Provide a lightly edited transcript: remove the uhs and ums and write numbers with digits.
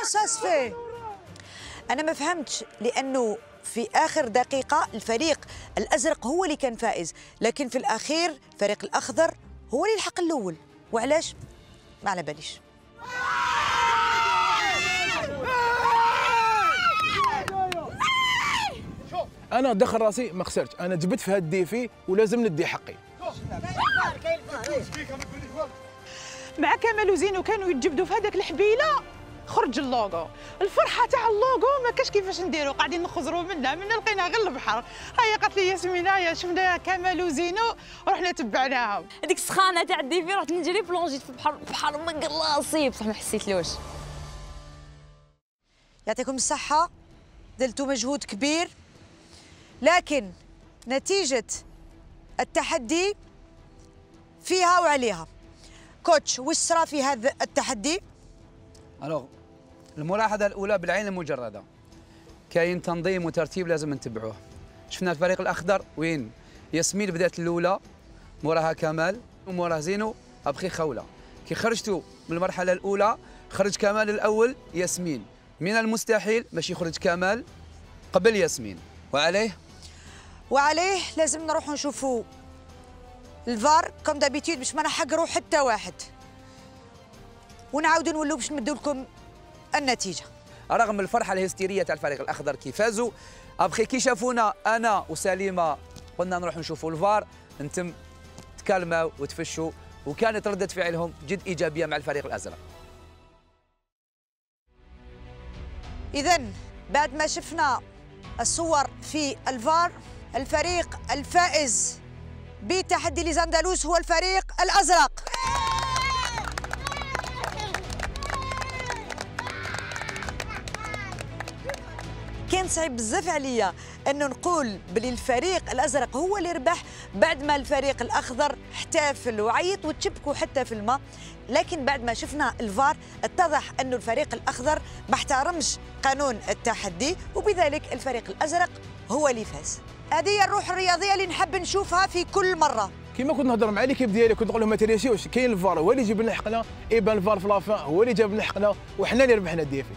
كومون سا سفي؟ انا ما فهمتش، لانه في اخر دقيقه الفريق الازرق هو اللي كان فائز، لكن في الاخير الفريق الاخضر هو اللي الحق الاول. وعلاش؟ ما على باليش. انا دخل راسي ما خسرتش، انا جبت في هاد الديفي ولازم ندي حقي. مع كمال وزينو كانوا يتجبدوا في هذاك الحبيله، خرج اللوغو. الفرحه تاع اللوغو ما كاش كيفاش نديروا، قاعدين نخزروا منها لقينا غير البحر. هيا قالت لي ياسمين هيا شفنا كمال وزينو رحنا تبعناهم. هذيك السخانه تاع الديفي رحت نجري بلونجيت في البحر، البحر مقلاصي بصح ما حسيتلوش. يعطيكم الصحه، دلتوا مجهود كبير، لكن نتيجه التحدي فيها وعليها. كوتش، وش صرا في هذا التحدي؟ الوغ الملاحظه الاولى بالعين المجرده كاين تنظيم وترتيب لازم نتبعوه. شفنا الفريق الاخضر وين ياسمين بدات الاولى، موراها كمال وموراه زينو ابخي خوله. كي خرجتوا من المرحله الاولى خرج كمال الاول، ياسمين من المستحيل باش يخرج كمال قبل ياسمين. وعليه لازم نروحوا نشوفوا الفار كوم دابيتيد باش ما نحقروا حتى واحد، ونعاودوا نولوا باش نمدوا لكم النتيجه. رغم الفرحه الهستيريه تاع الفريق الاخضر كي فازوا، ابخي كي شافونا انا وسليمه قلنا نروحوا نشوفوا الفار، انتم تكلموا وتفشوا، وكانت رده فعلهم جد ايجابيه مع الفريق الازرق. اذا بعد ما شفنا الصور في الفار، الفريق الفائز بتحدي ليزاندالوس هو الفريق الازرق. كان صعيب بزاف عليا انه نقول بلي الفريق الازرق هو اللي ربح بعد ما الفريق الاخضر احتفل وعيط وتشبكوا حتى في الماء، لكن بعد ما شفنا الفار اتضح انه الفريق الاخضر ما احترمش قانون التحدي، وبذلك الفريق الازرق هو اللي فاز. هذه هي الروح الرياضيه اللي نحب نشوفها في كل مره. كيما كنت نهضر مع ليكيب ديالي كنت نقول لهم ما تريسيوش، كاين الفار هو اللي يجيب لنا حقنا، ايبان الفار في لافان هو اللي جاب لنا حقنا، وحنا اللي ربحنا الديفي.